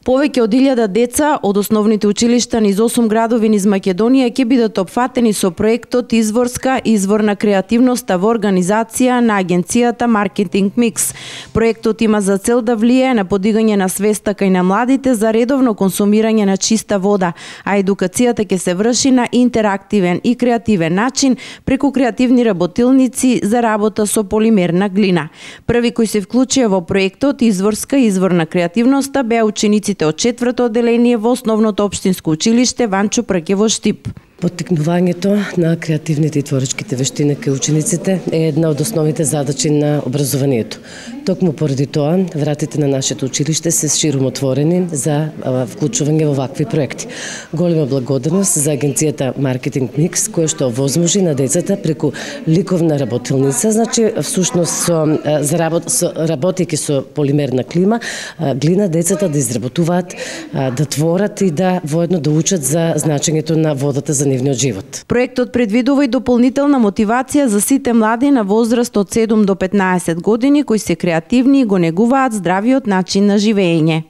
Повеќе од 1000 деца од основните училишта низ 8 градови низ Македонија ќе бидат опфатени со проектот Изворска изворна креативноста во организација на агенцијата Маркетинг Микс. Проектот има за цел да влијае на подигање на свеста кај на младите за редовно консумирање на чиста вода, а едукацијата ќе се врши на интерактивен и креативен начин преку креативни работилници за работа со полимерна глина. Први кои се вклучија во проектот Изворска изворна креативноста беа учениците од 4-то одделение во основното општинско училиште Ванчо Прке во Штип. Поттикнувањето на креативните и творечките вештини кај учениците е една од основните задачи на образованието. Токму поради тоа, вратите на нашето училиште се ширум отворени за вклучување во вакви проекти. Голема благодарност за агенцијата Маркетинг Микс, која што овозможи на децата преку ликовна работилница, значи всушност работејќи со полимерна глина, децата да изработуваат, да творат и да воедно да учат за значењето на водата за нивниот живот. Проектот предвидува и дополнителна мотивација за сите млади на возраст од 7 до 15 години кои се креативни и го негуваат здравиот начин на живење.